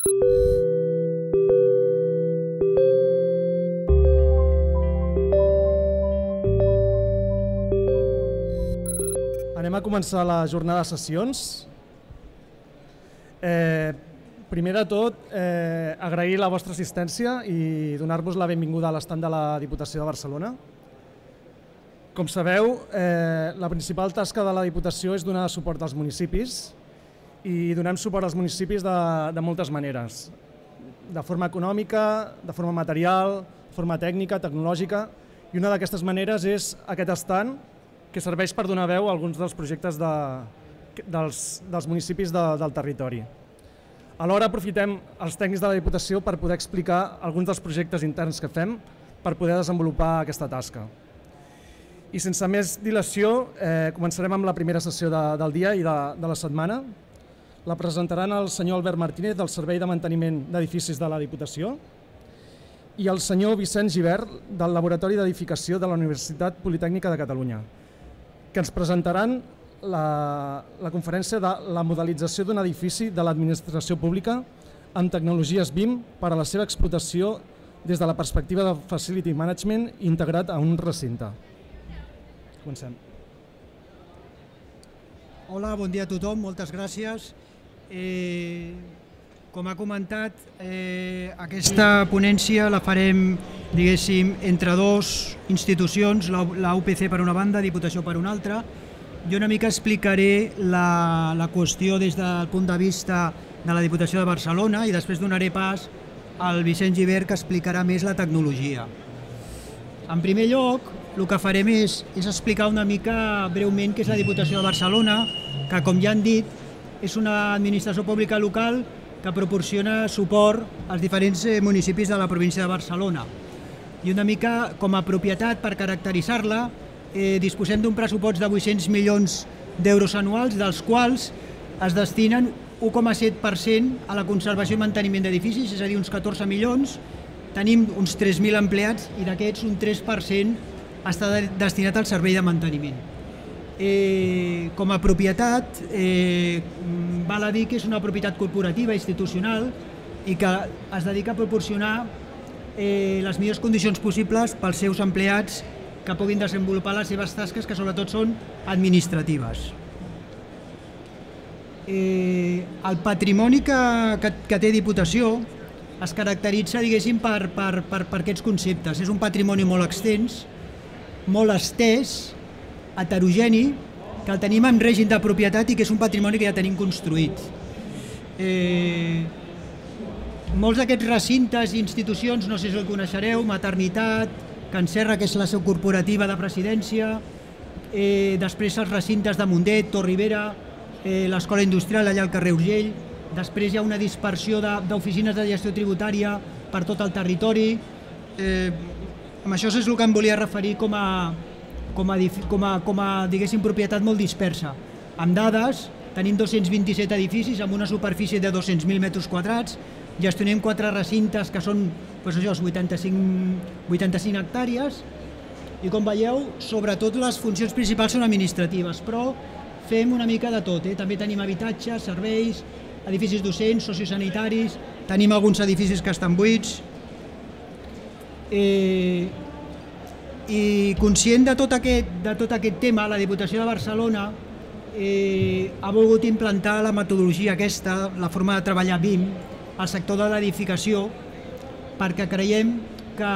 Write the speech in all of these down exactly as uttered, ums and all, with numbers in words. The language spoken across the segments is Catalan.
Anem a començar la jornada de sessions. Eh, primer de tot, eh, agrair la vostra assistència i donar-vos la benvinguda a l'estand de la Diputació de Barcelona. Com sabeu, eh, la principal tasca de la Diputació és donar suport als municipis i donem suport als municipis de, de moltes maneres, de forma econòmica, de forma material, de forma tècnica, tecnològica, i una d'aquestes maneres és aquest estand que serveix per donar veu a alguns dels projectes de, dels, dels municipis de, del territori. Alhora aprofitem els tècnics de la Diputació per poder explicar alguns dels projectes interns que fem per poder desenvolupar aquesta tasca. I sense més dilació, eh, començarem amb la primera sessió de, del dia i de, de la setmana. La presentaran el senyor Albert Martínez del Servei de Manteniment d'Edificis de la Diputació i el senyor Vicent Gibert del Laboratori d'Edificació de la Universitat Politècnica de Catalunya, que ens presentaran la, la conferència de la modelització d'un edifici de l'administració pública amb tecnologies B I M per a la seva explotació des de la perspectiva de Facility Management integrat a un recinte. Comencem. Hola, bon dia a tothom, moltes gràcies. Eh, com ha comentat, eh, aquesta ponència la farem, diguéssim, entre dues institucions, la U P C per una banda, Diputació per una altra. Jo una mica explicaré la, la qüestió des del punt de vista de la Diputació de Barcelona i després donaré pas al Vicent Gibert, que explicarà més la tecnologia. En primer lloc, el que farem és, és explicar una mica breument què és la Diputació de Barcelona, que, com ja han dit, és una administració pública local que proporciona suport als diferents municipis de la província de Barcelona. I una mica com a propietat, per caracteritzar-la, eh, disposem d'un pressupost de vuit-cents milions d'euros anuals, dels quals es destinen u coma set per cent a la conservació i manteniment d'edificis, és a dir, uns catorze milions. Tenim uns tres mil empleats i d'aquests un tres per cent està destinat al servei de manteniment. Eh, com a propietat, eh, val a dir que és una propietat corporativa, institucional, i que es dedica a proporcionar eh, les millors condicions possibles pels seus empleats que puguin desenvolupar les seves tasques, que sobretot són administratives. Eh, el patrimoni que, que, que té Diputació es caracteritza, diguéssim, per, per, per, per aquests conceptes. És un patrimoni molt extens, molt estès, heterogeni, que el tenim en règim de propietat i que és un patrimoni que ja tenim construït. Eh, molts d'aquests recintes i institucions, no sé si el coneixereu, Maternitat, Can Serra, que és la seu corporativa de presidència, eh, després els recintes de Mundet, Torribera, eh, l'Escola Industrial allà al carrer Urgell, després hi ha una dispersió d'oficines de, de gestió tributària per tot el territori. Eh, amb això és el que em volia referir com a, com a, com a, com a diguéssim, propietat molt dispersa. Amb dades, tenim dos-cents vint-i-set edificis amb una superfície de dos-cents mil metres quadrats, gestionem quatre recintes que són doncs això, vuitanta-cinc, vuitanta-cinc hectàrees i, com veieu, sobretot les funcions principals són administratives, però fem una mica de tot. Eh? També tenim habitatges, serveis, edificis docents, sociosanitaris, tenim alguns edificis que estan buits. Eh, I conscient de tot aquest, de tot aquest tema, la Diputació de Barcelona eh, ha volgut implantar la metodologia aquesta, la forma de treballar B I M, al sector de l'edificació, perquè creiem que,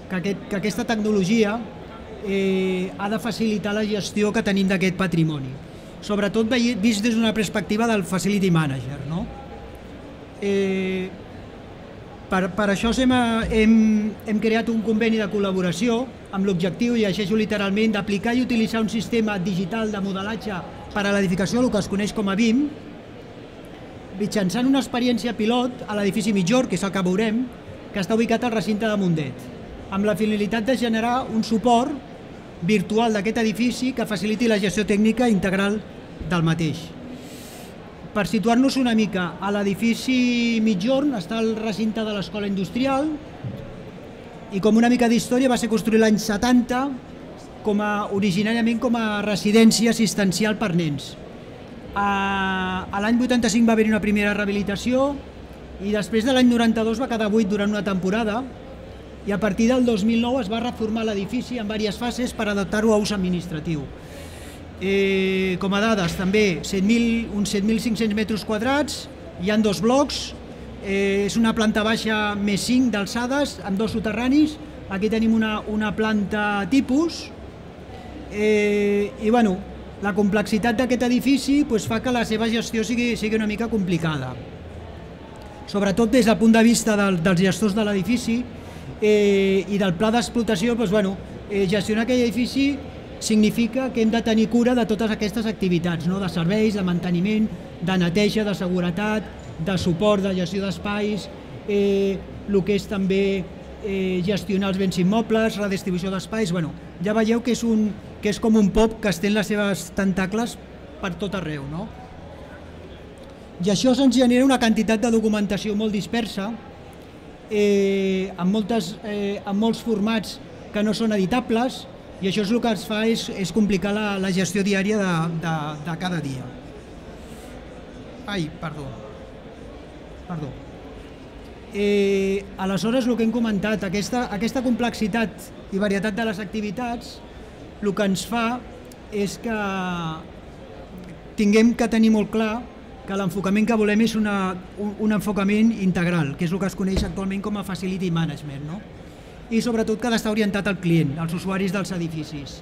que, aquest, que aquesta tecnologia eh, ha de facilitar la gestió que tenim d'aquest patrimoni, sobretot vist des d'una perspectiva del Facility Manager. No? Eh, per, per això hem, hem, hem creat un conveni de col·laboració amb l'objectiu, llegeixo literalment, d'aplicar i utilitzar un sistema digital de modelatge per a l'edificació, el que es coneix com a B I M, mitjançant una experiència pilot a l'edifici Mitjor, que és el que veurem, que està ubicat al recinte de Mundet, amb la finalitat de generar un suport virtual d'aquest edifici que faciliti la gestió tècnica integral del mateix. Per situar-nos una mica, a l'edifici Mitjorn està el recinte de l'Escola Industrial i, com una mica d'història, va ser construït l'any setanta, com a, originàriament com a residència assistencial per nens. A l'any vuitanta-cinc va haver-hi una primera rehabilitació i després de l'any noranta-dos va quedar buit durant una temporada i a partir del dos mil nou es va reformar l'edifici en diverses fases per adaptar-ho a ús administratiu. Eh, com a dades, també set mil, uns set mil cinc-cents metres quadrats, hi ha dos blocs, eh, és una planta baixa més cinc d'alçades amb dos soterranis, aquí tenim una, una planta tipus, eh, i bueno, la complexitat d'aquest edifici pues, fa que la seva gestió sigui, sigui una mica complicada. Sobretot des del punt de vista del, dels gestors de l'edifici eh, i del pla d'explotació, doncs, bueno, eh, gestionar aquell edifici significa que hem de tenir cura de totes aquestes activitats, no? De serveis, de manteniment, de neteja, de seguretat, de suport, de gestió d'espais, eh, el que és també eh, gestionar els béns immobles, redistribució d'espais. Bueno, ja veieu que és, un, que és com un pop que estén les seves tentacles per tot arreu, no? I això se'ns genera una quantitat de documentació molt dispersa, eh, amb, moltes, eh, amb molts formats que no són editables, i això és el que ens fa és, és complicar la, la gestió diària de, de, de cada dia. Ai, perdó. Perdó. Eh, aleshores, el que hem comentat, aquesta, aquesta complexitat i varietat de les activitats, el que ens fa és que tinguem que tenir molt clar que l'enfocament que volem és una, un, un enfocament integral, que és el que es coneix actualment com a Facility Management, no? I sobretot que ha d'estar orientat al client, als usuaris dels edificis.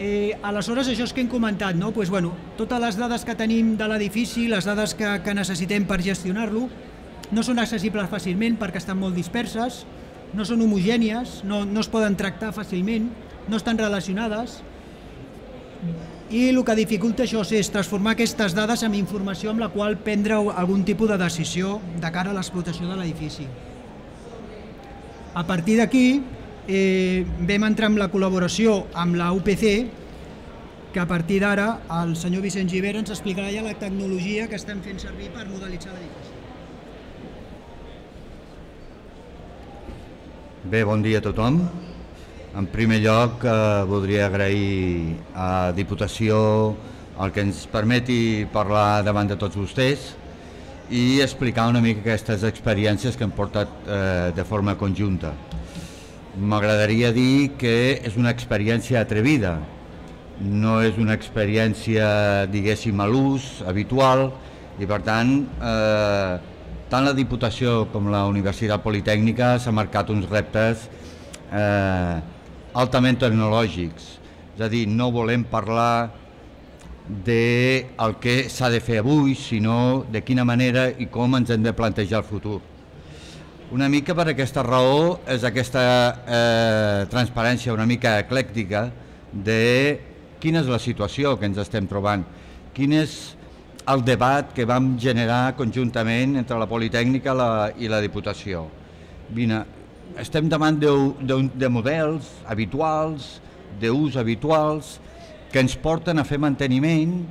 Eh, aleshores, això és que hem comentat, no? Pues, bueno, totes les dades que tenim de l'edifici, les dades que, que necessitem per gestionar-lo, no són accessibles fàcilment perquè estan molt disperses, no són homogènies, no, no es poden tractar fàcilment, no estan relacionades, i el que dificulta això és transformar aquestes dades en informació amb la qual prendre algun tipus de decisió de cara a l'explotació de l'edifici. A partir d'aquí eh, vam entrar en la col·laboració amb la U P C, que a partir d'ara el senyor Vicent Gibert ens explicarà ja la tecnologia que estem fent servir per modelitzar l'edifici. Bé, bon dia a tothom. En primer lloc, eh, voldria agrair a Diputació el que ens permeti parlar davant de tots vostès i explicar una mica aquestes experiències que hem portat eh, de forma conjunta. M'agradaria dir que és una experiència atrevida, no és una experiència, diguéssim, a l'ús habitual i, per tant, eh, tant la Diputació com la Universitat Politècnica s'ha marcat uns reptes eh, altament tecnològics, és a dir, no volem parlar del que s'ha de fer avui, sinó de quina manera i com ens hem de plantejar el futur. Una mica per aquesta raó és aquesta eh, transparència una mica eclèctica de quina és la situació que ens estem trobant, quin és el debat que vam generar conjuntament entre la Politècnica la, i la Diputació. Vine, estem davant de, de, de models habituals, d'ús habituals, que ens porten a fer manteniment,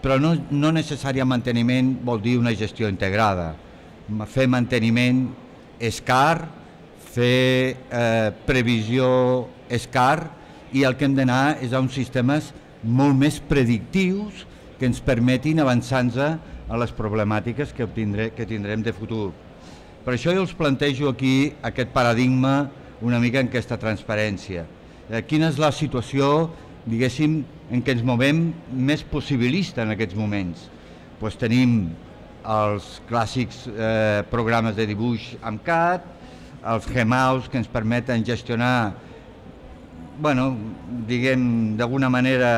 però no, no necessàriament manteniment vol dir una gestió integrada. Fer manteniment és car, fer eh, previsió és car, i el que hem d'anar és a uns sistemes molt més predictius que ens permetin avançar-nos a les problemàtiques que, obtindré, que tindrem de futur. Per això jo els plantejo aquí aquest paradigma una mica en aquesta transparència. Eh, quina és la situació, diguéssim, en què ens movem més possibilista en aquests moments? Pues tenim els clàssics eh, programes de dibuix amb C A D, els Gmaus que ens permeten gestionar, bueno, diguem, d'alguna manera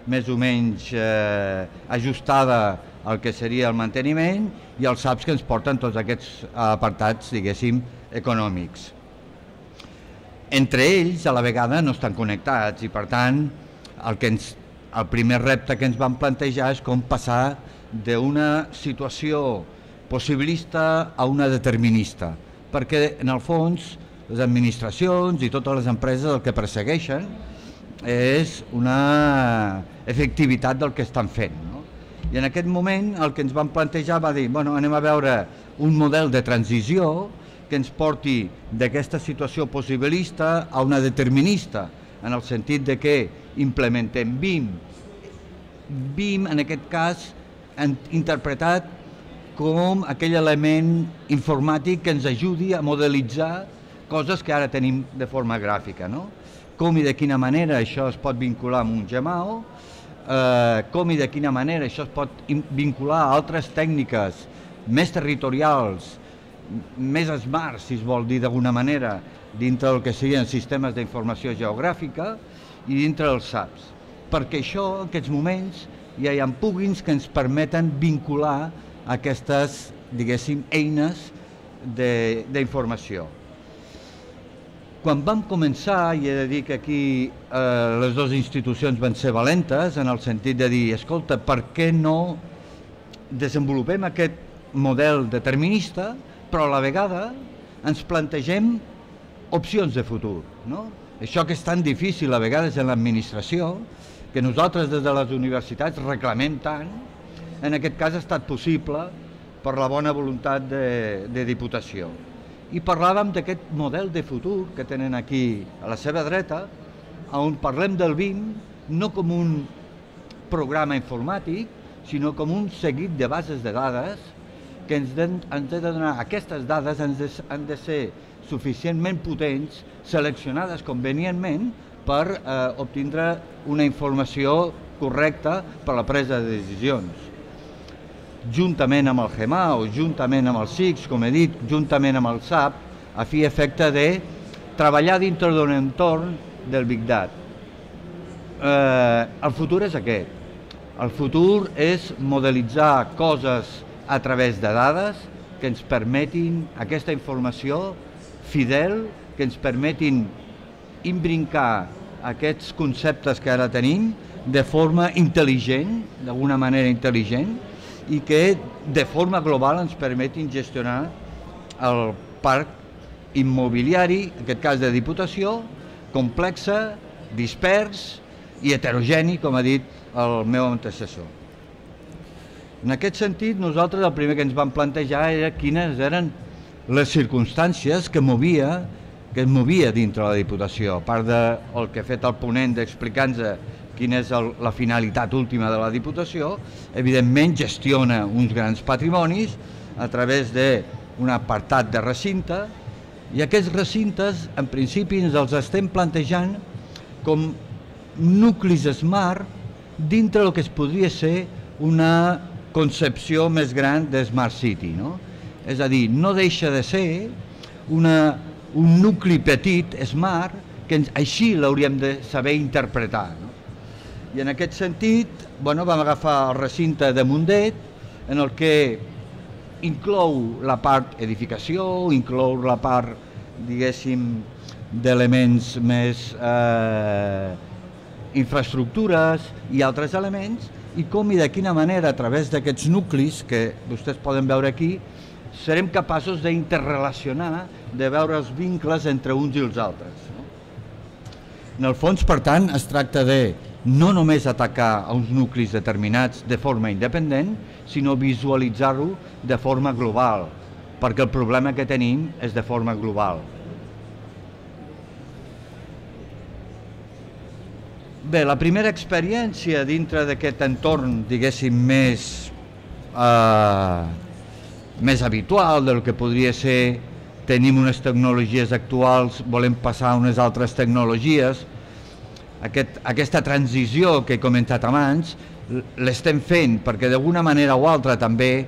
més o menys eh, ajustada al que seria el manteniment, i els S A Ps que ens porten tots aquests apartats, diguéssim, econòmics. Entre ells, a la vegada, no estan connectats i, per tant, el, que ens, el primer repte que ens vam plantejar és com passar d'una situació possibilista a una determinista, perquè, en el fons, les administracions i totes les empreses el que persegueixen és una efectivitat del que estan fent, no? I en aquest moment el que ens vam plantejar va dir, bueno, anem a veure un model de transició que ens porti d'aquesta situació possibilista a una determinista, en el sentit de que implementem B I M. B I M, en aquest cas, interpretat com aquell element informàtic que ens ajudi a modelitzar coses que ara tenim de forma gràfica, no? Com i de quina manera això es pot vincular amb un Gemao, eh, com i de quina manera això es pot vincular a altres tècniques més territorials, més smart, si es vol dir d'alguna manera, dintre del que serien sistemes d'informació geogràfica i dintre dels S A Ps. Perquè això, en aquests moments, ja hi ha plugins que ens permeten vincular aquestes, diguéssim, eines d'informació. Quan vam començar, i he de dir que aquí eh, les dues institucions van ser valentes, en el sentit de dir, escolta, per què no desenvolupem aquest model determinista, però a la vegada ens plantegem opcions de futur, no? Això que és tan difícil a vegades en l'administració, que nosaltres des de les universitats reclamem tant, en aquest cas ha estat possible per la bona voluntat de, de Diputació. I parlàvem d'aquest model de futur que tenen aquí a la seva dreta, on parlem del B I M no com un programa informàtic, sinó com un seguit de bases de dades que ens han de donar. Aquestes dades han de ser suficientment potents, seleccionades convenientment per eh, obtindre una informació correcta per a la presa de decisions. Juntament amb el Gemao, juntament amb el S I X, com he dit, juntament amb el S A P, a fi i efecte de treballar dintre d'un entorn del Big Data. Eh, el futur és aquest. El futur és modelitzar coses a través de dades que ens permetin aquesta informació fidel, que ens permetin imbrincar aquests conceptes que ara tenim de forma intel·ligent, d'alguna manera intel·ligent, i que de forma global ens permetin gestionar el parc immobiliari, en aquest cas de Diputació, complexe, dispers i heterogeni, com ha dit el meu antecessor. En aquest sentit, nosaltres el primer que ens vam plantejar era quines eren les circumstàncies que movia que es movia dintre la Diputació, a part del que ha fet el ponent d'explicar-nos quina és el, la finalitat última de la Diputació, evidentment gestiona uns grans patrimonis a través d'un apartat de recinte, i aquests recintes, en principi, ens els estem plantejant com nuclis smart dintre del que es podria ser una concepció més gran de Smart City, no? És a dir, no deixa de ser una, un nucli petit, smart, que ens, així l'hauríem de saber interpretar, no? I en aquest sentit, bueno, vam agafar el recinte de Mundet, en el que inclou la part edificació, inclou la part, diguéssim, d'elements més eh, infraestructures i altres elements, i com i de quina manera, a través d'aquests nuclis, que vostès poden veure aquí, serem capaços d'interrelacionar, de veure els vincles entre uns i els altres. En el fons, per tant, es tracta de no només atacar a uns nuclis determinats de forma independent, sinó visualitzar-ho de forma global, perquè el problema que tenim és de forma global. Bé, la primera experiència dintre d'aquest entorn, diguéssim, més, eh, més habitual del que podria ser tenim unes tecnologies actuals, volem passar a unes altres tecnologies, Aquest, aquesta transició que he comentat abans l'estem fent perquè d'alguna manera o altra també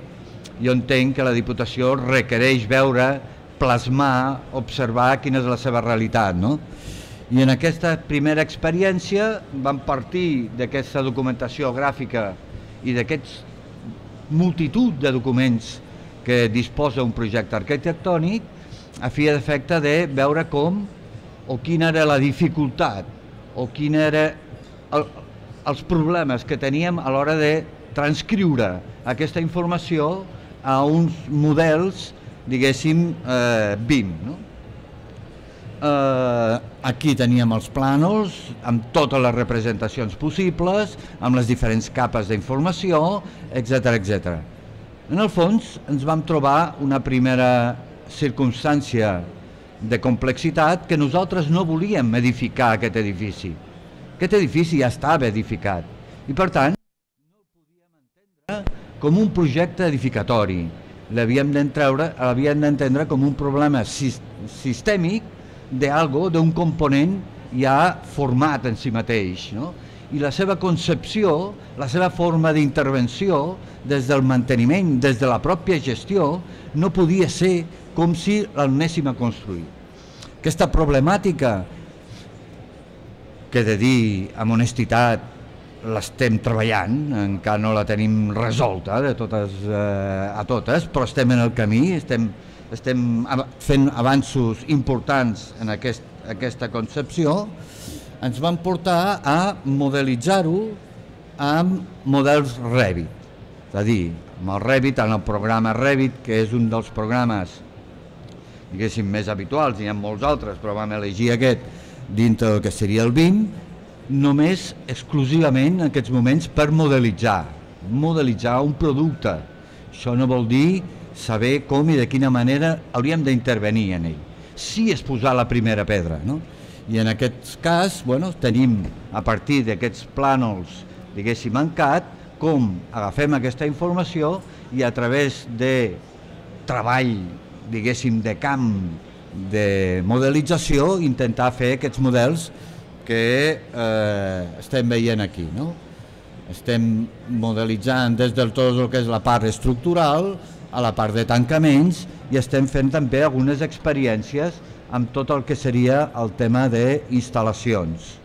jo entenc que la Diputació requereix veure, plasmar, observar quina és la seva realitat, no? I en aquesta primera experiència vam partir d'aquesta documentació gràfica i d'aquests multitud de documents que disposa un projecte arquitectònic a fi d'efecte de veure com o quina era la dificultat o quins eren el, els problemes que teníem a l'hora de transcriure aquesta informació a uns models, diguéssim, eh, B I M. No? Eh, aquí teníem els plànols amb totes les representacions possibles, amb les diferents capes d'informació, etcètera, etcètera. En el fons ens vam trobar una primera circumstància de complexitat que nosaltres no volíem edificar aquest edifici. Aquest edifici ja estava edificat i per tant no el podíem entendre com un projecte edificatori. L'havíem d'entendre com un problema sistèmic d'algo, d'un component ja format en si mateix. I la seva concepció, la seva forma d'intervenció, des del manteniment, des de la pròpia gestió, no podia ser com si l'anéssim a construir. Aquesta problemàtica, que he de dir amb honestitat, l'estem treballant, encara no la tenim resolta de totes a totes, però estem en el camí, estem fent avanços importants en aquesta concepció, ens van portar a modelitzar-ho amb models Revit. És a dir, amb el Revit, en el programa Revit, que és un dels programes, diguéssim, més habituals, hi ha molts altres, però vam elegir aquest dintre del que seria el B I M, només exclusivament en aquests moments per modelitzar, modelitzar un producte. Això no vol dir saber com i de quina manera hauríem d'intervenir en ell. Sí és posar la primera pedra, no? I en aquest cas, bueno, tenim a partir d'aquests plànols, diguéssim, en C A D, com agafem aquesta informació i a través de treball, diguéssim, de camp, de modelització, intentar fer aquests models que estem veient aquí. Estem modelitzant des del tot el que és la part estructural a la part de tancaments i estem fent també algunes experiències amb tot el que seria el tema d'instal·lacions.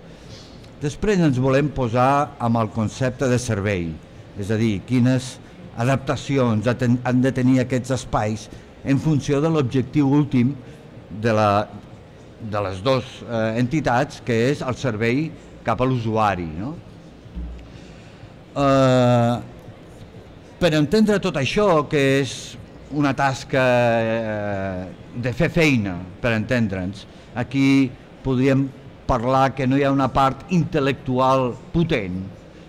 Després ens volem posar amb el concepte de servei, és a dir, quines adaptacions han de tenir aquests espais en funció de l'objectiu últim de les dues entitats, que és el servei cap a l'usuari. Per entendre tot això, que és una tasca de fer feina, per entendre'ns, aquí podríem parlar que no hi ha una part intel·lectual potent,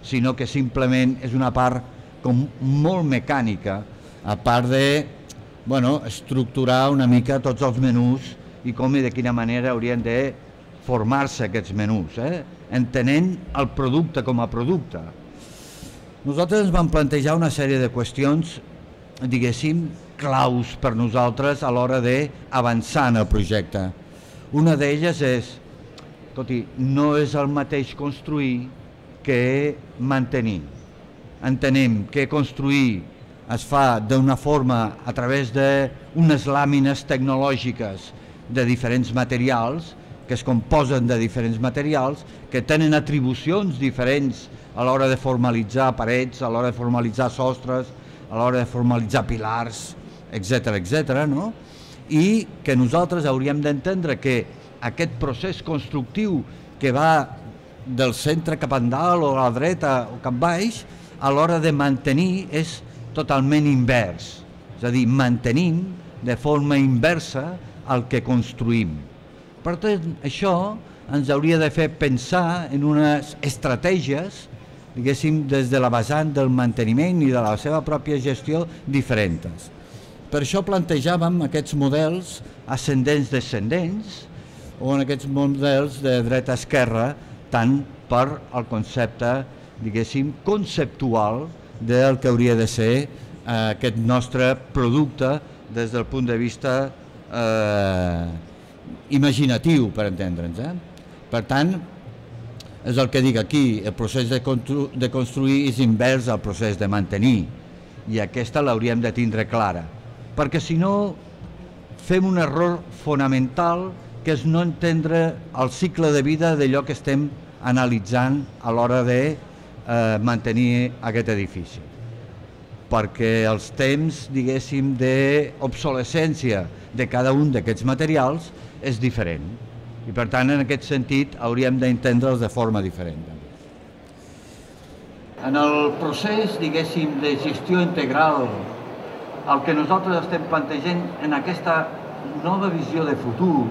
sinó que simplement és una part com molt mecànica, a part de estructurar una mica tots els menús i com i de quina manera haurien de formar-se aquests menús, entenent el producte com a producte. Nosaltres ens vam plantejar una sèrie de qüestions, diguéssim, claus per nosaltres a l'hora d'avançar en el projecte. Una d'elles és, escolti, no és el mateix construir que mantenir. Entenem que construir es fa d'una forma a través d'unes làmines tecnològiques de diferents materials, que es composen de diferents materials, que tenen atribucions diferents a l'hora de formalitzar parets, a l'hora de formalitzar sostres, a l'hora de formalitzar pilars, etcètera, etcètera, i que nosaltres hauríem d'entendre que aquest procés constructiu que va del centre cap endalt o a la dreta o cap baix, a l'hora de mantenir és totalment invers, és a dir, mantenim de forma inversa el que construïm. Per tant, això ens hauria de fer pensar en unes estratègies, diguéssim, des de la vessant del manteniment i de la seva pròpia gestió diferents. Per això plantejàvem aquests models ascendents-descendents o en aquests models de dreta-esquerra, tant per al concepte, diguéssim, conceptual del que hauria de ser aquest nostre producte des del punt de vista imaginatiu, per entendre'ns. Per tant, és el que dic aquí, el procés de construir és invers al procés de mantenir, i aquesta l'hauríem de tindre clara, perquè si no fem un error fonamental que és no entendre el cicle de vida d'allò que estem analitzant a l'hora de mantenir aquest edifici. Perquè els temps, diguéssim, d'obsolescència de cada un d'aquests materials és diferent. I per tant, en aquest sentit, hauríem d'entendre'ls de forma diferent. En el procés, diguéssim, de gestió integral, el que nosaltres estem plantejant en aquesta nova visió de futur,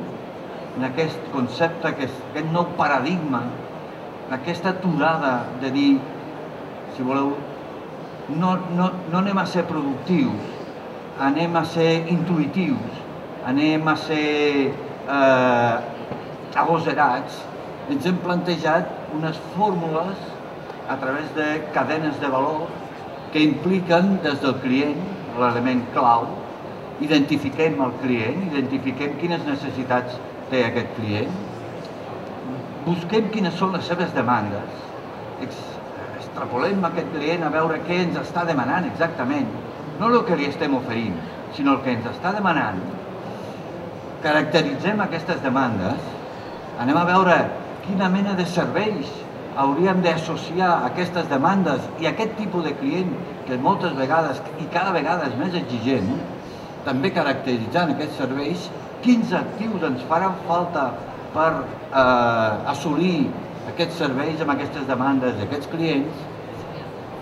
en aquest concepte, aquest nou paradigma, aquesta aturada de dir, si voleu, no anem a ser productius, anem a ser intuïtius, anem a ser agosarats, ens hem plantejat unes fórmules a través de cadenes de valor que impliquen des del client, l'element clau, identifiquem el client, identifiquem quines necessitats té aquest client, busquem quines són les seves demandes, extrapolem aquest client a veure què ens està demanant exactament, no el que li estem oferint, sinó el que ens està demanant. Caracteritzem aquestes demandes, anem a veure quina mena de serveis hauríem d'associar aquestes demandes i aquest tipus de client que moltes vegades i cada vegada és més exigent, també caracteritzant aquests serveis, quins actius ens faran falta per eh, assolir aquests serveis amb aquestes demandes d'aquests clients,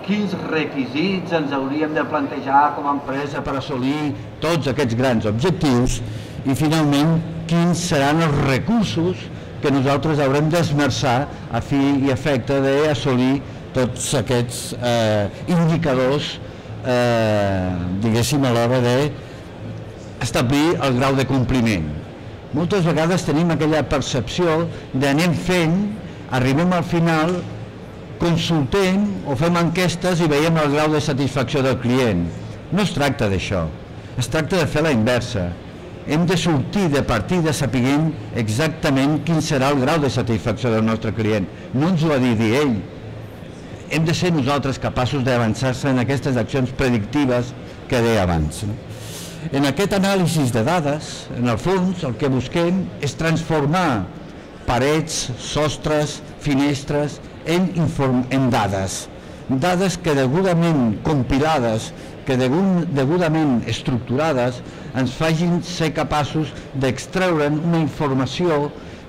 quins requisits ens hauríem de plantejar com a empresa per assolir tots aquests grans objectius i finalment quins seran els recursos que nosaltres haurem d'esmerçar a fi i efecte d'assolir tots aquests eh, indicadors, eh, diguéssim, a l'hora d'establir el grau de compliment. Moltes vegades tenim aquella percepció d'anem fent, arribem al final, consultem o fem enquestes i veiem el grau de satisfacció del client. No es tracta d'això, es tracta de fer la inversa. Hem de sortir de partida sapiguent exactament quin serà el grau de satisfacció del nostre client. No ens ho ha dit ell. Hem de ser nosaltres capaços d'avançar-se en aquestes accions predictives que deia abans. En aquest anàlisi de dades, en el fons, el que busquem és transformar parets, sostres, finestres en, en dades. Dades que degudament compilades, que degudament estructurades ens facin ser capaços d'extreure'n una informació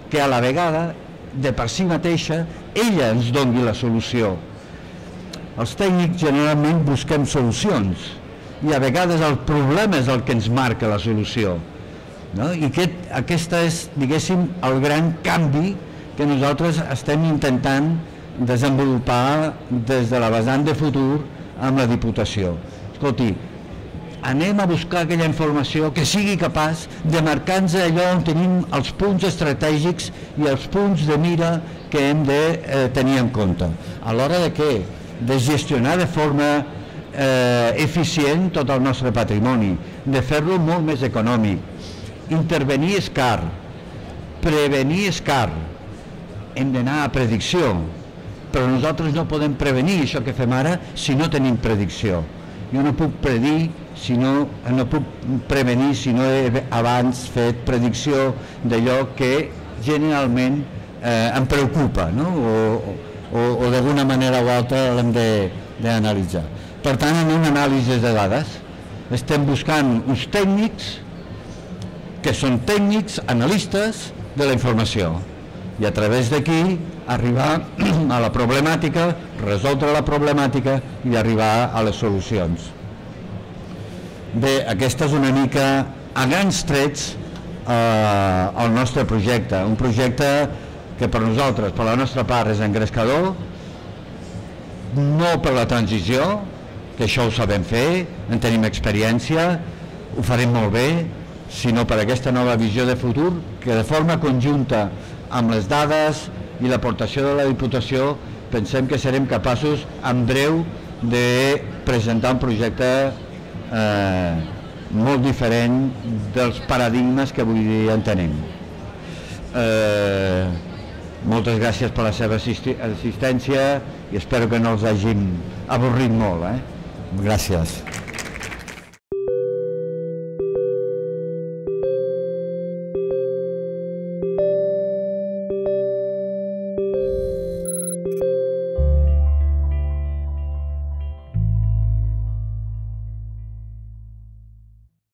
que a la vegada, de per si mateixa, ella ens doni la solució. Els tècnics generalment busquem solucions i a vegades el problema és el que ens marca la solució. No? I aquest, aquest és, diguéssim, el gran canvi que nosaltres estem intentant desenvolupar des de la vessant de futur amb la Diputació. Escolti, anem a buscar aquella informació que sigui capaç de marcar-nos allò on tenim els punts estratègics i els punts de mira que hem de eh, tenir en compte. A l'hora de què? De gestionar de forma eh, eficient tot el nostre patrimoni, de fer-lo molt més econòmic. Intervenir és car, prevenir és car. Hem d'anar a predicció, però nosaltres no podem prevenir això que fem ara si no tenim predicció. Jo no puc predir, si no, no puc prevenir si no he abans fet predicció d'allò que generalment eh, em preocupa, no? o, o, o d'alguna manera o altra l'hem d'analitzar. Per tant, en una anàlisi de dades estem buscant uns tècnics que són tècnics, analistes de la informació i a través d'aquí arribar a la problemàtica, resoldre la problemàtica i arribar a les solucions. Bé, aquesta és una mica, a grans trets, eh, el nostre projecte. Un projecte que per nosaltres, per la nostra part, és engrescador, no per la transició, que això ho sabem fer, en tenim experiència, ho farem molt bé, sinó per aquesta nova visió de futur, que de forma conjunta amb les dades i l'aportació de la Diputació pensem que serem capaços en breu de presentar un projecte eh, molt diferent dels paradigmes que avui dia en tenim. Eh, moltes gràcies per la seva assistència i espero que no els hàgim avorrit molt. Eh? Gràcies.